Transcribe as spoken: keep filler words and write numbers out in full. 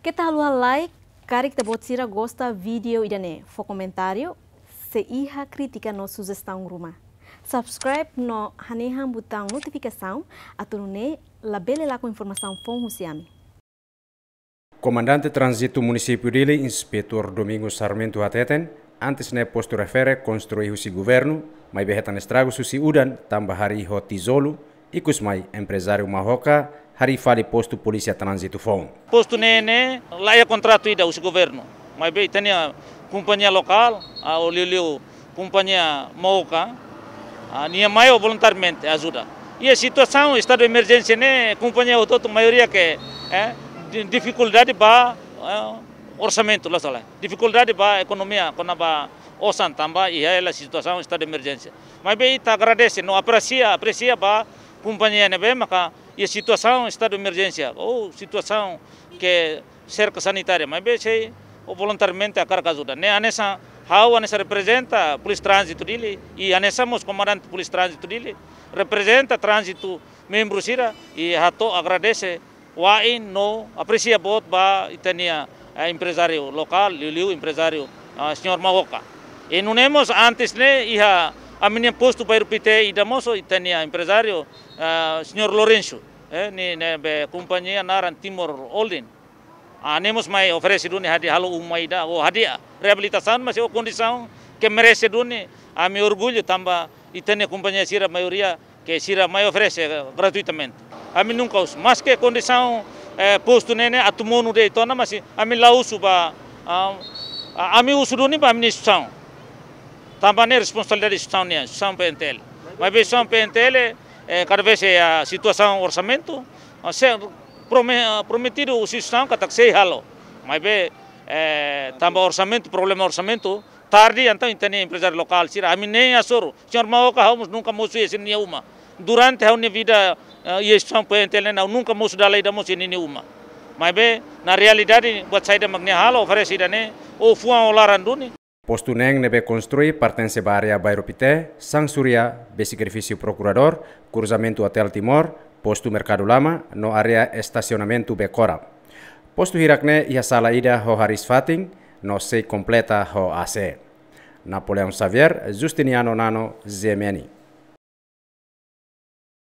Keta haluha like, karik ita-boot sira gosta vídeo ida-ne'e, fó komentáriu, se iha krítika no sujestaun ruma. Subscribe no hanehan butaun notifikasaun, atu nune'e labele lakon informasaun foun husi ami. Komandante Tránzitu Munisípiu Dili, Inspetór Domingos Sarmento hateten, antes ne'e postu refere konstrui husi governu, maibé hetan estragus husi udan tanba harii ho tijolu, ikus mai emprezáriu Mahoka harii fali postu polísia tránzitu foun. Postu ne'e ne'e la iha kontratu ida husi governu, maibé ita-nia kompañia lokál, ah, liuliu kompañia Mahoka, ah, nia mai ho voluntariamente ajuda. Iha situasaun estadu emerjénsia ne'e, kompañia hotu-hotu maioria ke, eh, di-, difikuldade ba, eh, orsamentu, la sala. Difikuldade ba ekonomia, kona-ba osan tanba iha hela situasaun estadu emerjénsia. Maibé ita agradese no apresia, apresia ba kompañia ne'ebé maka iha situasaun estadu emerjénsia, ou situasaun ke serka sanitária, maibé sei voluntariamente hakarak ajuda. Ne'e hanesan ha'u hanesan reprezenta Polísia Tránzitu Dili, i hanesan mós komandante Polísia Tránzitu Dili, reprezenta tránzitu membru sira, i hato'o agradese wa'in no apresia boot ba ita-nia, eh, emprezáriu lokál, liuliu emprezáriu, ah, señór Mahoka. I nune'e mós antes ne'e iha ami-nia postu Bairru Pité ida mós ita-nia emprezáriu, ah, señór Lourenço, eh, nia ne'ebé kompañia naran Timor Holding. Ah, nia mós mai oferese duni hadi'a halo uma ida, ou hadi'a reabilitasaun, mas ho kondisaun ke merese duni, ami orgullu tanba ita-nia kompañia sira maioria ke sira mai oferese gratuitamente. Ami nunka husu, maske kondisaun, eh, postu ne'e ne'e atu monu de'it ona, mas ami la husu ba, ah, ah, ami husu duni ba ami-nia instituisaun. Tanba ne'e responsabilidade instituisaun nian, instituisaun P N T L. Maibé instituisaun P N T L, eh, kada vez iha situasaun orsamentu, ah, sei prome-, ah, prometidu husi instituisaun katak sei halo. Maibé, eh, tanba orsamentu, problema orsamentu, tarde, entaun ita-nia emprezáriu lokál sira, ami nein hasoru. Señór Mahoka ha'u mós nunka mosu iha sira-nia uma. Durante ha'u-nia vida, eh, iha instituisaun P N T L ne'e, ha'u nunka mosu dala ida mós iha ninia uma. Maibé, na realidade, buat saida mak nia halo, oferese ida-ne'e, ou fuan ou laran duni. Postu neen ne'ebé konstrui pertense ba área Bairru Pité, Sansuria, besik edifísiu Prokuradór, kruzamentu Hotel Timor, postu Merkadu Lama, no área estasionamentu Bekora. Postu hirak ne'e iha sala ida ho hariis fatin, no sei kompleta ho A C. Napoleão Xavier, Justiniano Nano, Z M N.